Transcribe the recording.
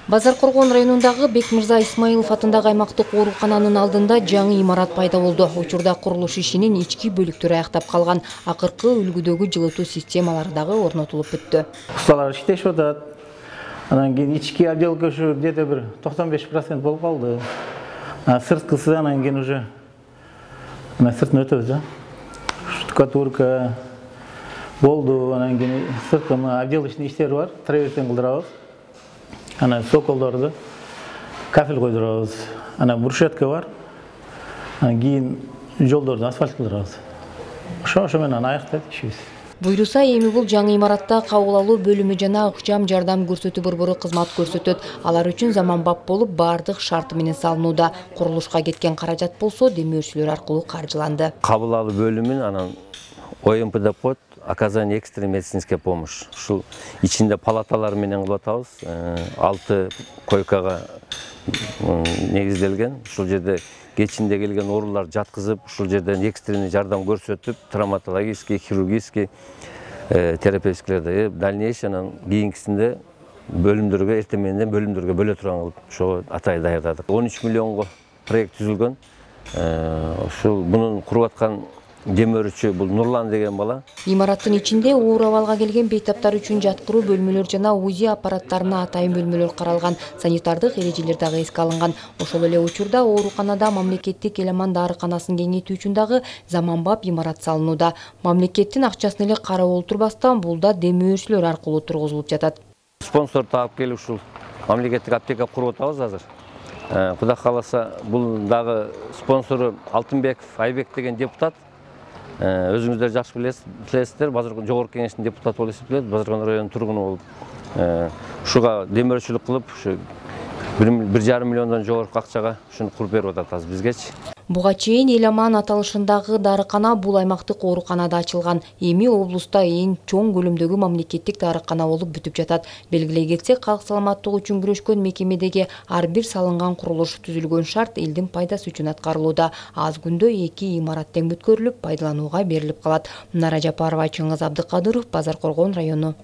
Базар Коргон районундагы Бекмырза Исмаилов атындагы аймактык оорукананын алдында жаңы имарат пайда болду. Учурда курулуш ишинин ички бөлүктөрү аяктап калган. Акыркы үлгүдөгү жылытуу системалары дагы орнотулуп бүттү. Усталар иштешип атат. Анан кийин ички отделка ушу где-то бир 95% болуп калды. Сырткысы анан кийин уже сыртын өтөбүз да. Штукатурка болду, анан кийин сырткы отделочный иштери бар, траверстен кылдырабыз. Ana sokollarda kafel koydurabız. Ana brushetka var. Keyin жолдорду асфальт кылдырабыз. Ошо менен аяктайт ишибиз. Буйруса эми бул жаңы имаратта кабыл алуу бөлүмү жана ыкчам жардам көрсөтүү борбору кызмат көрсөтөт. Алар үчүн заманбап болуп баардык шарты менен салынууда. Курулушка кеткен каражат болсо демөөрчүлөр аркылуу каржыланды. Кабыл алуу бөлүмүн анан ОМПД под оказание экстренной медицинской помощи. Ушул ичинде палаталар менен кылып атабыз. 6 койкага негизделген. Ушул жерде кечинде келген оорулар жаткызып, ушул жерден экстренный жардам көрсөтүп, травматологический, хирургический, терапевтиктерди дальнейший анан кийинкисинде бөлүмдөргө эртең менен бөлүмдөргө бөлө турган кылып ошо атай даярдадык. 13 миллионго проект түзүлгөн. Ушул мунун куруп аткан демөөрчү бул Нурлан деген бала. Имараттын ичинде оор абалга келген бейтаптар үчүн жаткыруу бөлмөлөр жана УЗИ аппараттарына атайын бөлмөлөр каралган. Санитардык эрежелер дагы эске алынган. Ошол эле учурда ооруканада мамлекеттик Эламан дарыканасын кеңейтүү үчүн дагы заманбап имарат салынууда. Мамлекеттин акчасын эле карап олтурбастан бул да демөөрчүлөр аркылуу тургузулуп жатат. Спонсор таап келип ушул мамлекеттик аптека куруп атабыз азыр. Кудай кааласа бул дагы спонсору Алтынбеков Айбек деген депутат. Өзүңүздөр жакшы билесиздер, Базаркон жогорку кеңештин депутаты болуп эсептелет, Базаркон районунун тургуну болуп. Ушуга демөөрчүлүк кылып, ушу 1,5 миллиондон жогорку акчага ушуну куруп берип атат азыр бизгечи. Буга чейин Эламан аталышындагы дарыкана бул аймактык ооруканада ачылган. Эми облуста эң чоң көлөмдөгү мамлекеттик дарыкана болуп бүтүп жатат. Белгилей кетсек, калк саламаттыгы үчүн күрөшкөн мекемедеги ар бир салынган курулуш түзүлгөн шарт элдин пайдасы үчүн аткарылууда. Аз күндө 2 имарат тең бүткөрүлүп, пайдаланууга берилип калат. Нара Жапарова, Чыңгыз Абдыкадыров, Базар Коргон району.